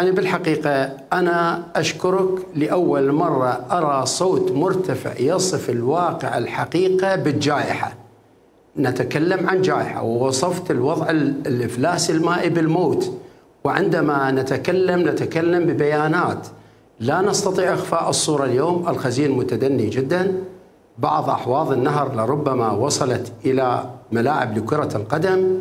يعني بالحقيقة أنا أشكرك لأول مرة أرى صوت مرتفع يصف الواقع الحقيقة بالجائحة. نتكلم عن جائحة ووصفت الوضع الإفلاس المائي بالموت، وعندما نتكلم ببيانات لا نستطيع إخفاء الصورة. اليوم الخزين متدني جدا، بعض أحواض النهر لربما وصلت إلى ملاعب لكرة القدم،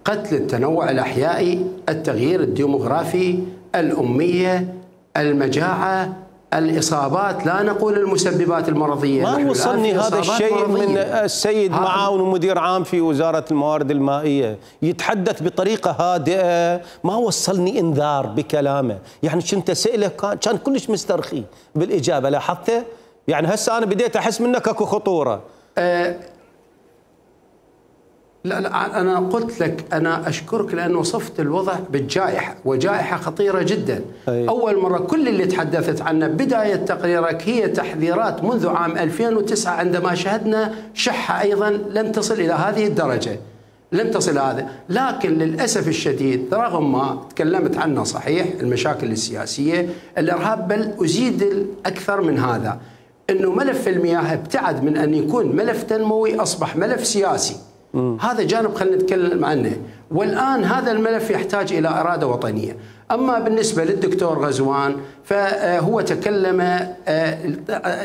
قتل التنوع الأحيائي، التغيير الديموغرافي، الأمية، المجاعة، الإصابات، لا نقول المسببات المرضية. ما وصلني هذا الشيء من السيد معاون ومدير عام في وزارة الموارد المائية يتحدث بطريقة هادئة، ما وصلني إنذار بكلامه. يعني كنت أسأله كان كلش مسترخي بالإجابة، لاحظته؟ يعني هسه أنا بديت أحس منك أكو خطورة. لا أنا قلت لك أنا أشكرك لأن وصفت الوضع بالجائحة، وجائحة خطيرة جدا. أول مرة كل اللي تحدثت عنه بداية تقريرك هي تحذيرات منذ عام 2009 عندما شهدنا شحة أيضا لم تصل إلى هذه الدرجة، لم تصل هذا. لكن للأسف الشديد رغم ما تكلمت عنه صحيح المشاكل السياسية، الإرهاب، بل أزيد أكثر من هذا، أنه ملف المياه ابتعد من أن يكون ملف تنموي أصبح ملف سياسي. هذا جانب خلينا نتكلم عنه، والآن هذا الملف يحتاج إلى إرادة وطنية. أما بالنسبة للدكتور غزوان فهو تكلم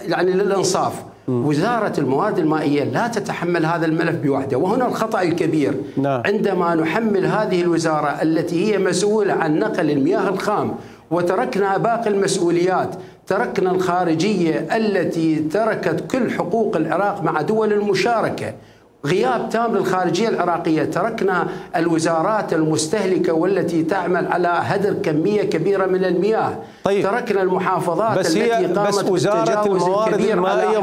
يعني للإنصاف، وزارة الموارد المائية لا تتحمل هذا الملف بوحده، وهنا الخطأ الكبير. عندما نحمل هذه الوزارة التي هي مسؤولة عن نقل المياه الخام وتركنا باقي المسؤوليات، تركنا الخارجية التي تركت كل حقوق العراق مع دول المشاركة، غياب تام للخارجية العراقية، تركنا الوزارات المستهلكة والتي تعمل على هدر كمية كبيرة من المياه، تركنا المحافظات التي قامت بالتجاوز الكبير على